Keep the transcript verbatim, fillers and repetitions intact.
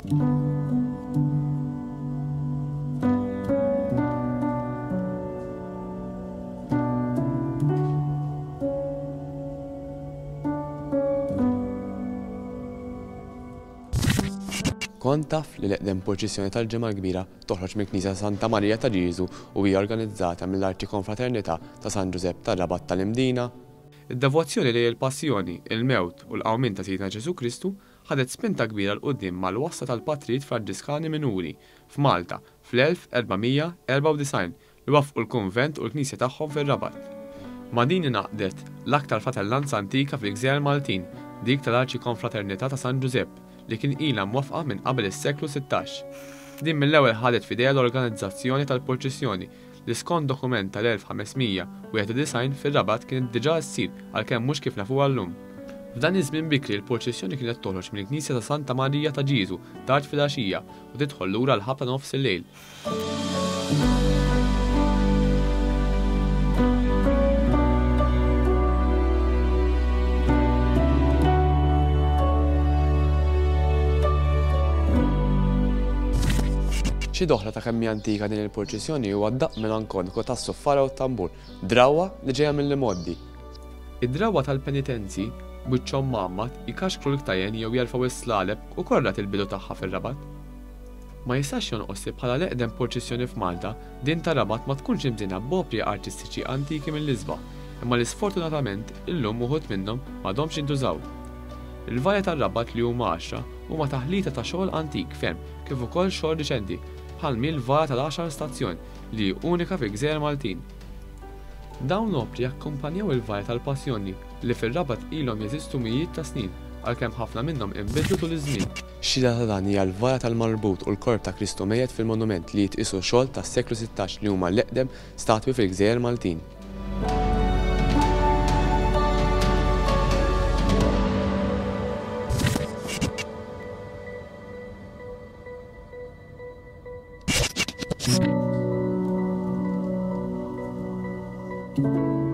Kont taf li l-eqdem purċissjoni tal-Ġimgħa l-Kbira toħroġ mill-Knisja Santa Marija ta' Ġieżu u hija organizzata mill-Arċikonfraternità ta' San Ġużepp tar-Rabat tal-Imdina? Id-devozzjoni lejn il-Passjoni, il-Mewt u l-Qawmien ta' Sidna Ġesù Kristu ħadet spinta kbira 'l quddiem mal-wasla tal-Patrijiet Franġiskani Minuri f'Malta fl-elf erba' mija erbgħa u disgħin li waffqu l-kunvent u l-knisja tagħhom fir-Rabat. Ma' din ingħaqdet l-aktar fratellanza antika fil-Gżejjer Maltin, dik tal-Arċikonfraternità ta' San Ġużepp, li kien ilha mwaffqa minn qabel is-seklu sittax. Din mill-ewwel ħadet f'idejha l-organizzazzjoni tal-purċissjoni li skont dokument tal-elf ħames mija wieħed u disgħin fir-Rabat kienet diġà ssir għalkemm mhux kif nafuha llum. F'dan iż-żmien bikri l-purċissjoni kienet toħroġ mill-Knisja ta' Santa Marija ta' Ġieżu tard filgħaxija u tidħol lura l-ħabta nofs il-lejl. Xi doħra ta' kemm hija antika din il-purċissjoni huwa d-daqq melankoniku tas-suffara u t-tambur, drawwa li ġejja mill-imgħoddi. Id-drawwa tal-penitenzi b'wiċċhom mgħammad jkaxkru l-ktajjen jew jerfgħu s-slaleb ukoll rat il-bidu tagħha fir-Rabat. Ma jistax jonqos li bħala l-eqdem purċissjoni f'Malta, din tar-Rabat ma tkunx imżejna b'opri artistiċi antiki mill-isbaħ, imma li sfortunatament illum uħud minnhom m'għadhomx jintużaw. Il-varja tar-Rabat li huma għaxra huma taħlita ta' xogħol antik ferm kif ukoll xogħol riċenti, bħal mi l-vara tal-għaxar stazzjon li hi unika fil-Gżejjer Maltin. Dawn l-opri jakkumpanjaw il-varja tal-Passjoni li fir-Rabat ilhom jeżistu mijiet ta' snin, għalkemm ħafna minnhom inbidlu tul iż-żmien. Xhieda ta' dan hija l-vara tal-Marbut u l-Korp ta' Kristu mejjet fil-monument li jitqisu xogħol tas-seklu sittax li huma l-eqdem statwi fil-Gżejjer Maltin. Thank you.